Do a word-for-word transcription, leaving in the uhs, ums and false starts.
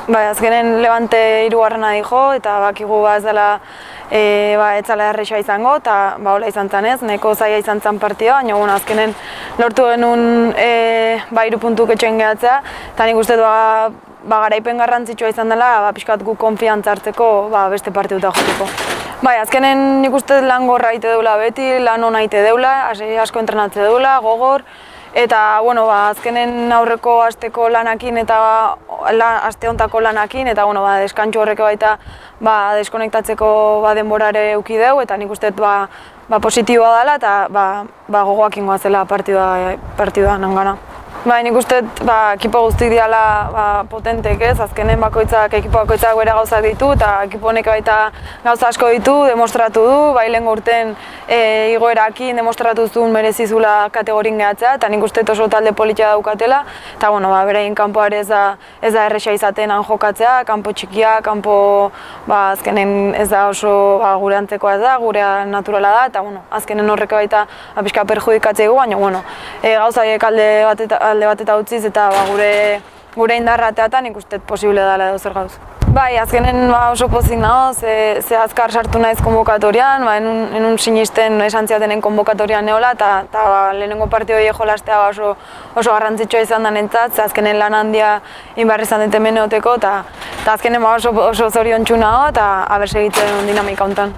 Bai, azkenen Levante hirugarrena dijo eta bakigu ba ez dela e, ba, etzala erresa izango eta ba hola izan zen ez, nahiko zaila izan zen partida, baina bueno, azkenen lortu genuen e, ba hiru puntuk etxean gehatzea eta nik uste ba, ba garaipen garrantzitsua izan dela ba pixkat gu konfiantza hartzeko ba, beste partiduta joteko. Bai, azkenen nik uste lan gorra ite deula beti, lan ona ite deula, asko entrenatze deula, gogor. Eta, bueno, ba, azkenen aurreko asteko lanakin eta la, aste hontako lanakin eta, bueno, ba, deskantxo horrek baita ba, deskonektatzeko ba, denborare euki deu eta nik uste ba, ba, positiboa dela eta ba, ba, gogoak ingoa zela partidua, partidua nangana. Bai, nik uste ba, ekipo guztik diala ba, potentek ez, azkenen bakoitzak, ekipo bakoitzak bere gauzak ditu eta ekipo honek baita gauza asko ditu, demostratu du, bai lehen urten e, igoerakin demostratu zuen merezizula kategorin gehatzea eta nik uste oso talde politia daukatela eta bueno, ba, berein kanpoare ez da, ez da erresa izaten han jokatzea, kanpo txikia, kanpo ba, azkenen ez da oso ba, gure antzekoa ez da, gurea naturala da eta bueno, azkenen horrek baita ba, pixka perjudikatzea gu, baina bueno, e, gauzaiek alde bateta alde bat eta utziz eta ba, gure, gure indarra teatan ikusten posible dela edo zer gauz. Bai, azkenen ba, oso pozik nago, ze, ze azkar sartu naiz konbokatorian, ba, enun, enun sinisten esan ziatenen konbokatorian neola eta ba, lehenengo partidoi jolastea ba, oso, oso garrantzitsua izan da nentzat, ze azkenen lan handia inbarri izan dut hemen neoteko eta azkenen ba, oso, oso zoriontsu nago eta aber segitzen dinamika hontan.